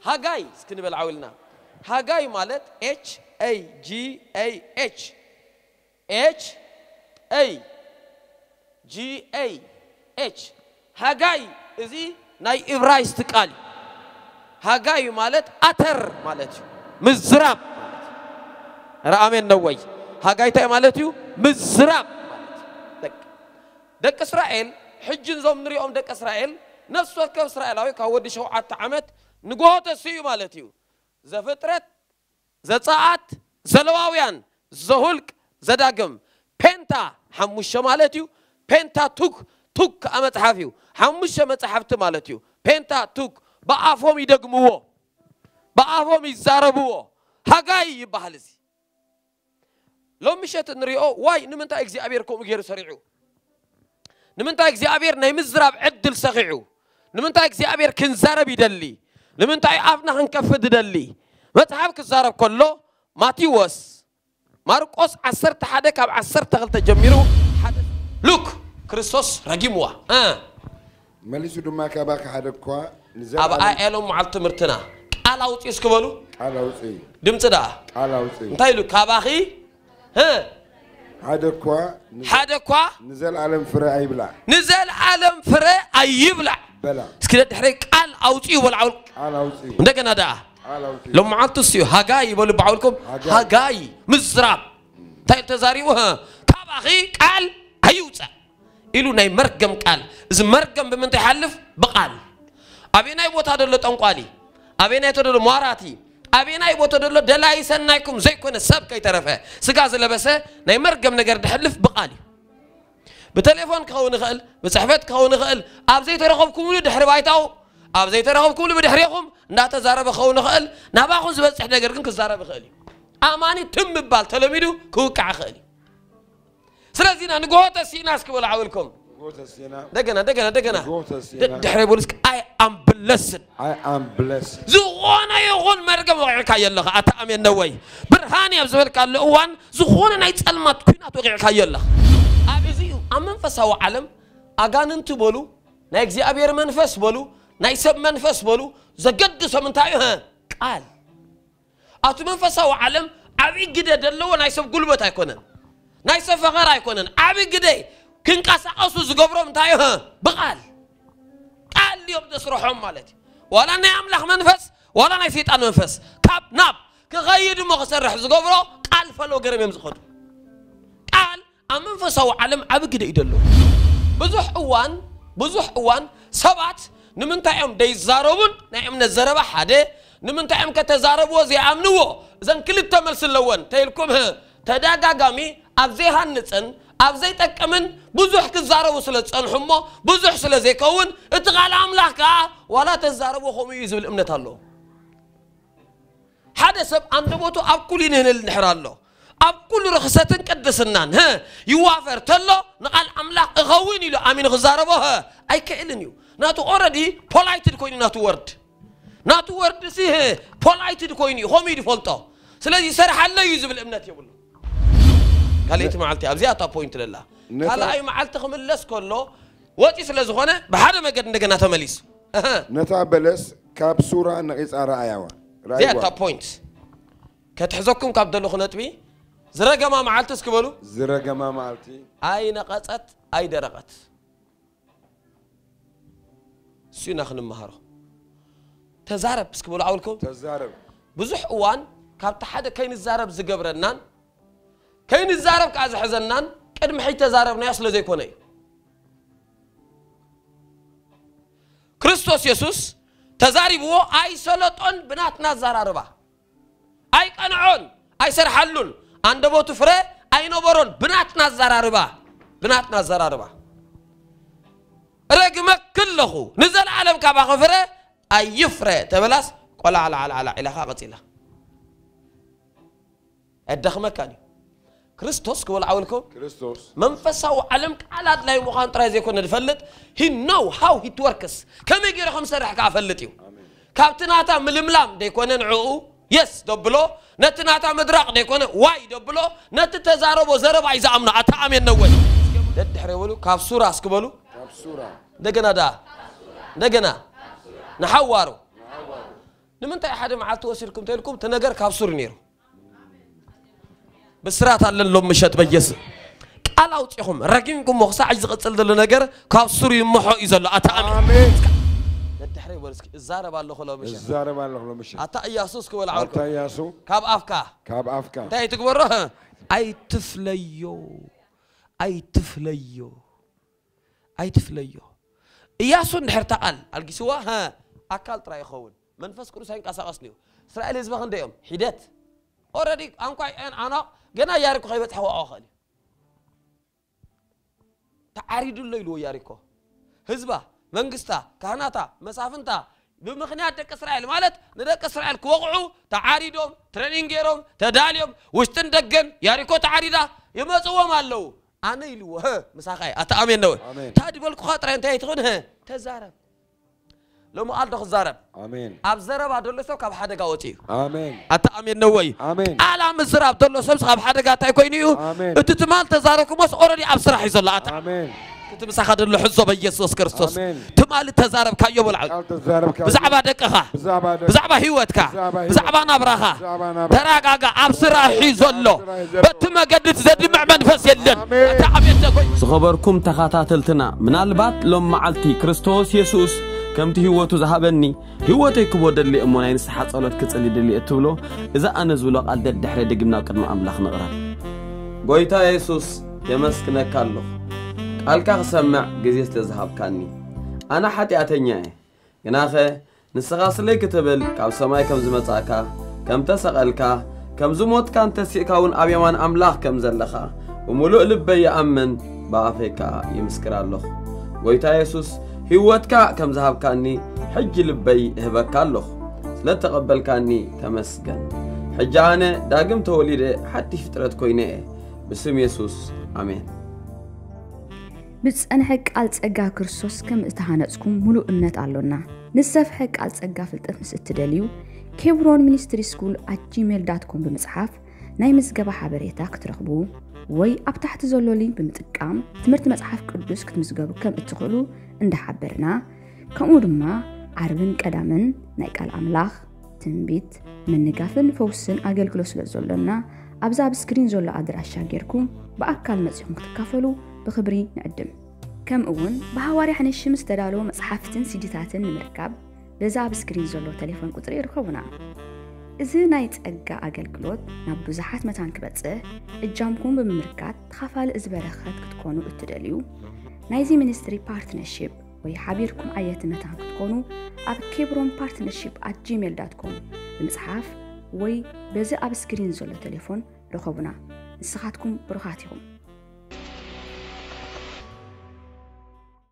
ሃጋይ እስኪ ንበል ዓው ኢልና። ሃጋይ ማለት H A G A Y H A H A G A H ሃጋይ። እዚ ናይ እብራይስጥ ቃል እዩ። ሃጋይ ማለት ኣተር ማለት እዩ። ምዝራብ ማለት እዩ። ኧረ ኣሜን ነው ወይ? ሃጋይ እንታይ ማለት እዩ? ምዝራብ ማለት እዩ። ደቂ እስራኤል ሕጂ እዞም ንሪኦም ደቂ እስራኤል ነፍሲ ወከፍ እስራኤላዊ ካብ ወዲ ሸውዓተ ዓመት ንግሆ ተሲኡ ማለት እዩ። ዘፍጥረት፣ ዘጸኣት፣ ዘለዋውያን፣ ዘሁልቅ፣ ዘዳግም። ፔንታ ሓሙሽተ ማለት እዩ። ፔንታ ቱክ ቱክ ከዓ መጽሓፍ እዩ። ሓሙሽተ መጽሓፍቲ ማለት እዩ። ፔንታ ቱክ ብኣፎም ይደግምዎ፣ ብኣፎም ይዛረብዎ። ሃጋይ ይበሃል እዚ። ሎም ምሸት እንሪኦ ዋይ ንምንታይ እግዚኣብሔር ከምኡ ገይሩ ሰሪዑ? ንምንታይ እግዚኣብሔር ናይ ምዝራብ ዕድል ሰኺዑ? ንምንታይ እግዚኣብሔር ክንዛረብ ይደሊ? ንምንታይ ኣፍና ክንከፍት ይደሊ? መጽሓፍ ክዛረብ ከሎ ማቴዎስ፣ ማርቆስ ዓሰርተ ሓደ ካብ ዓሰርተ ክልተ ጀሚሩ ሓደ ሉክ ክርስቶስ ረጊምዋ እ መሊሱ ድማ ካባኺ ሓደ እኳ ኣብ ኣያሎም መዓልቲ ትምህርትና ቃል ኣውፅኡ እስኪ በሉ። ቃል ኣውፅኢ ድምፂ ደኣ ቃል ኣውፅኢ እንታይ ኢሉ? ካባኺ እ ሓደ እኳ ንዘ- ሓደ እኳ ንዘለኣለም ፍረ ኣይብላ ንዘለኣለም ፍረ ኣይብላዕ። በላ እስኪ ደድሕረይ ቃል ኣውፅኡ በሉ። ዓውል ቃል ኣውፅኢ እንደገና ደኣ ቃል ኣውፅኢ ሎም መዓልቱ እስዩ ሃጋይ ይበሉ በዓውልኩም ሃጋይ። ሃጋይ ምዝራብ እንታይ ኢሉ ተዛሪቡ? ህ፣ ካባኺ ቃል ኣይውፃእ ኢሉ ናይ መርገም ቃል። እዚ መርገም ብምንታይ ይሓልፍ? ብቓል። ኣበየናይ ቦታ ደሎ ጠንቋሊ፣ ኣበየናይ ቦታ ደሎ ሟራቲ፣ ኣበየናይ ቦታ ደሎ ደላይ ሰናይኩም ዘይኮነ ሰብ ከይተረፈ ስጋ ዝለበሰ ናይ መርገም ነገር ድሕልፍ ብቓል እዩ። ብቴሌፎን ክኸውን ይኽእል፣ ብፅሕፈት ክኸውን ይኽእል። ኣብ ዘይተረኸብኩምሉ ድሕሪ ባይታኡ፣ ኣብ ዘይተረኸብኩምሉ ብድሕሬኹም እንዳተዛረበ ክኸውን ይኽእል። ናባኹም ዝበፅሕ ነገር ግን ክዛረብ ይኽእል እዩ። ኣማኒ ትም ምባል ተለሚዱ ክውቃዕ ይኽእል እዩ። ስለዚ ኢና ንግሆ ተሲእና እስኪ በሉ ዓውልኩም። ንግሆ ተሲእና እንደገና እንደገና እንደገና ንግሆ ተሲእና ድሕሪ በሉ እስኪ። I am blessed። I am blessed ዝኾነ ይኹን መርገም ወቂዕካዮ ኣለኻ። ኣታ ኣሜን ነው ወይ? ብርሃን እየ ኣብ ዝበልካሉ እዋን ዝኾነ ናይ ጸልማት ኲናት ወቂዕካዮ ኣለኻ። ኣብ እዚ እዩ ኣብ መንፈሳዊ ዓለም ኣጋንንቲ በሉ ናይ እግዚኣብሔር መንፈስ በሉ ናይ ሰብ መንፈስ በሉ ዘገድሶም እንታይ እዩ? ቃል ኣብቲ መንፈሳዊ ዓለም ዓብዪ ግደ ዘለዎ ናይ ሰብ ጉልበት ኣይኮነን፣ ናይ ሰብ ፈኸር ኣይኮነን። ዓብዪ ግደ ክንቀሳቐሱ ዝገብሮም እንታይ እዩ? ብቓል ቃል እዮም ዘስርሖም ማለት እዩ። ዋላ ናይ ኣምላኽ መንፈስ ዋላ ናይ ሰይጣን መንፈስ ካብ ናብ ክኸይድ እሞ ክሰርሕ ዝገብሮ ቃል ፈሎ ገረም እዮም ዝኸዱ። ቃል ኣብ መንፈሳዊ ዓለም ዓቢ ግደ እዩ ደሎ። ብዙሕ እዋን ብዙሕ እዋን ሰባት ንምንታይ እዮም ደይዛረቡን ናይ እምነት ዘረባ ሓደ ንምንታይ እዮም ከተዛረብዎ ዘይኣምንዎ? እዘን ክልተ መልሲ ኣለወን ተይልኩም ህ ተደጋጋሚ ኣብ ዘይሃንፅን ኣብ ዘይጠቅምን ብዙሕ ክዛረቡ ስለ ዝፀንሑ እሞ ብዙሕ ስለ ዘይከውን እቲ ቃል ኣምላኽ ከዓ ዋላ ተዛረብዎ ከምኡ እዩ ዝብል እምነት ኣለዎ። ሓደ ሰብ ኣንደበቱ ኣብ ኩሉ ይንህንል እንድሕር ኣሎ ኣብ ኩሉ ርኽሰትን ቅድስናን ህ ይዋፈር ተሎ ንቓል ኣምላኽ እኸውን ኢሉ ኣሚኑ ክዛረቦ ህ ኣይክእልን እዩ። ናቱ already polite ድ ኮይኑ ናቱ ወርድ ናቱ ወርድ ሲ ህ polite ድ ኮይኑ እዩ ከምኡ እዩ ዝፈልጦ። ስለዚ ይሰርሓለ እዩ ዝብል እምነት የብሉ። ካልኣይቲ መዓልቲ ኣብዚኣ እታ point ለላ ነታ- ካልኣይ መዓልቲ ክምለስ ከሎ ወፂ ስለ ዝኾነ ብሓደ መገድ እንደገና ተመሊሱ እህ ነታ በለስ ካብ ሱራ ነቒጻ ረኣያዋ እዚኣ ረኣይዋ እታ point ከትሕዘኩም ካብ ደለኹ ነጥቢ ዝረገማ መዓልቲ እስኪ በሉ ዝረገማ መዓልቲ ኣይነቐጸት ኣይደረቐት እሱ ኢና ክንመሃሮ ተዛረብ እስኪ በሉ ዓውልኩም ተዛረብ ብዙሕ እዋን ካብቲ ሓደ ከይንዛረብ ዝገብረናን ከይንዛረብ ከዓ ዝሕዘናን ቅድሚ ሕጂ ተዛረብናዮ ስለ ዘይኮነ እዩ ክርስቶስ የሱስ ተዛሪብዎ ኣይሰለጦን ብናትና ኣዘራርባ ኣይቀንዖን ኣይሰርሓሉን ኣንደበቱ ፍረ ኣይነበሮን ብናትና ኣዘራርባ ብናትና ኣዘራርባ ረግመኪ ኣለኹ ንዘለኣለም ካባኺ ፍረ ኣይፍረ ተበላስ ቆላዕላዕላዕላ ኢላኻ ቀፂላ ኣዳኽመካን እዩ ክርስቶስ ክበልዓውልኩም ክርስቶስ መንፈሳዊ ዓለም ቃል ኣድላይ ምዃን ጥራይ ዘይኮነ ዝፈልጥ he know how it works ከመይ ገይሩ ከም ዝሰርሕ ከዓ ፈልጥ እዩ ካብቲ ናታ ምልምላም ደይኮነ ንዕኡ የስ ደብሎ ነቲ ናታ ምድራቕ ደይኮነ ዋይ ደብሎ ነቲ ተዛረቦ ዘረባ እዩ ዝኣምኖ ኣታ ኣሜን ነወይ ደድሕረ ይበሉ ካብ ሱራ እስክበሉ ካብ ሱራ እንደገና ደኣ እንደገና ንሓዋሩ ንምንታይ ሓደ መዓልቲ ወሲድኩም ተልኩም እቲ ነገር ካብ ሱር ነይሩ። ብስራት ኣለን ሎም ምሸት በየስ ቃል ኣውፂኹም ረጊምኩሞ ክሳዕ ዝቕፅል ዘሎ ነገር ካብ ሱር ይምሖ እዩ ዘሎ። ኣታ ኣሜን። ኣሜን። ደድሕረይ በሉ እስኪ፣ እዛረብ ኣለኹ ሎም ምሸት። እዛረብ ኣለኹ ሎም ምሸት። ኣታ እያሱ እስኪ በሉ ዓወልኩም። ኣታ እያሱ ካብ ኣፍካ ካብ ኣፍካ እንታይ ትግበሮ? ኣይትፍለዮ፣ ኣይትፍለዮ፣ ኣይትፍለዮ። እያሱ እንድሕር እታ ቃል ኣልጊስዋ፣ ሀ፣ ኣካል ጥራይ ይኸውን። መንፈስ ቅዱስ ኣይንቀሳቐስን እዩ። እስራኤል ህዝቢ ክንደይ እዮም? ሒደት። ኦረዲ ኣንኳይ ኤን ኣናቕ ገና ያሪኮ ከይበጽሐ ክወቕዖ ይኽእል እዩ። ተዓሪዱ ኣሎ ኢልዎ ያሪኮ። ህዝባ፣ መንግስታ፣ ካህናታ፣ መሳፍንታ፣ ብምኽንያት ደቂ እስራኤል ማለት ንደቂ እስራኤል ክወቕዑ ተዓሪዶም፣ ትሬኒንግ ገይሮም፣ ተዳልዮም፣ ውሽጥን ደገን ያሪኮ ተዓሪዳ ይመጽዎም ኣለዉ። ኣነ ኢልዎ፣ ሀ፣ ምሳኻ እየ። ኣታ ኣሜን ነው። ኣሜን። ታዲ በልኩኻ ጥራይ እንታይ ትኹን፣ ሀ፣ ተዛረብ። ሎሚ ቃል ዶ ክዛረብ? ኣሜን። ኣብ ዘረባ ደሎ ሰብ ካብ ሓደጋ ወፂኡ እዩ። ኣሜን። ኣታ ኣሜን ነው ወይ? ኣሜን። ቃል ኣብ ምዝራብ ደሎ ሰብ ካብ ሓደጋ እንታይ ኮይኑ እዩ? ኣሜን። እቲ ትማል ተዛረብኩሞስ ኦረዲ ኣብ ስራሕ እዩ ዘሎ። ኣታ ኣሜን። እቲ ምሳኻ ደሎ ሕዞ በኢየሱስ ክርስቶስ። ኣሜን። ትማል ተዛረብካዮ በልዓ። ቃል ተዛረብካ። ብዛዕባ ደቅኻ፣ ብዛዕባ ደቅ- ብዛዕባ ህይወትካ፣ ብዛዕባ ህይወት- ብዛዕባ ናብራኻ። ብዛዕባ ናብራ- ተረጋጋ። ኣብ ስራሕ እዩ ዘሎ። ኣብ ስራሕ እዩ ዘሎ። በቲ መገዲ ዘድምዕ መንፈስ የለን። ኣሜን። ኣታ ኣሜን ነው ወይ? ዝኸበርኩም ተኸታተልትና፣ ምናልባት ሎም መዓልቲ ክርስቶስ የሱስ ከምቲ ህይወቱ ዝሃበኒ ህይወተይ ክቦ ደሊ እሞ ናይ ንስሓ ጸሎት ክጽሊ ድሊ እትብሎ፣ እዚ ኣነ ዝብሎ ቃል ደድሕረ ድግምና ኣብ ቅድሚ ኣምላኽ ንቕረብ። ጎይታ የሱስ፣ የመስግነካ ኣለኹ፣ ቃልካ ክሰምዕ ግዜ ስለ ዝሃብካኒ። ኣነ ሓጢኣተኛ እየ፣ ግናኸ ንስኻ ስለይ ክትብል ካብ ሰማይ ከም ዝመጻእካ፣ ከም ተሰቐልካ፣ ከም ዝሞትካን ተሲእካ እውን ኣብ የማን ኣምላኽ ከም ዘለኻ ብምሉእ ልበይ ይኣምን፣ ብኣፈይ ከኣ ይምስክር ኣለኹ። ጎይታ የሱስ፣ ህይወትካ ከም ዝሃብካኒ ሕጂ ልበይ እህበካ ኣለኹ። ስለ እተቐበልካኒ ተመስገን። ሕጂ ኣነ ዳግም ተወሊደ ሓድሽ ፍጥረት ኮይነ እየ። ብስም የሱስ፣ ኣሜን። ብዝጸንሐ ቃል ጸጋ ክርስቶስ ከም እተሃነጽኩም ምሉእ እምነት ኣሎና። ንዝሰፍሐ ቃል ጸጋ ፍልጠት ምስ እትደልዩ፣ ኬብሮን ሚኒስትሪ ስኩል ኣት ጂሜል ዳት ኮም ብምጽሓፍ ናይ ምዝገባ ሓበሬታ ክትረኽቡ ወይ ኣብ ታሕቲ ዘሎ ሊንክ ብምጥቃም ትምህርቲ መጽሓፍ ቅዱስ ክትምዝገቡ ከም እትኽእሉ እንዳሓበርና፣ ከምኡ ድማ ዓርብን ቀዳምን ናይ ቃል ኣምላኽ፣ ትንቢት፣ ምንጋፍን ፈውስን ኣገልግሎት ስለ ዘሎና፣ ኣብዚ ኣብ ስክሪን ዘሎ ኣድራሻ ጌርኩም ብኣካል መጺኹም ክትካፈሉ ብኽብሪ ንዕድም። ከምኡ እውን ብሃዋርያ ሕንሽም ዝተዳለወ መጽሓፍትን ሲዲታትን ንምርካብ በዚ ኣብ ስክሪን ዘሎ ቴሌፎን ቁጽሪ ይርከቡና። እዚ ናይ ጸጋ ኣገልግሎት ናብ ብዙሓት መታን ክበጽሕ እጃምኩም ብምምርካት ተኻፋሊ እዚ በረኸት ክትኮኑ እትደልዩ፣ ናይዚ ሚኒስትሪ ፓርትነርሺፕ ወይ ሓቢርኩም ዓየቲ መታን ክትኮኑ ኣብ ኬብሮን ፓርትነርሺፕ ኣት ጂሜል ዳት ኮም ብምጽሓፍ ወይ በዚ ኣብ ስክሪን ዘሎ ቴሌፎን ርኸቡና። ንስኻትኩም ብሩኻት ኢኹም።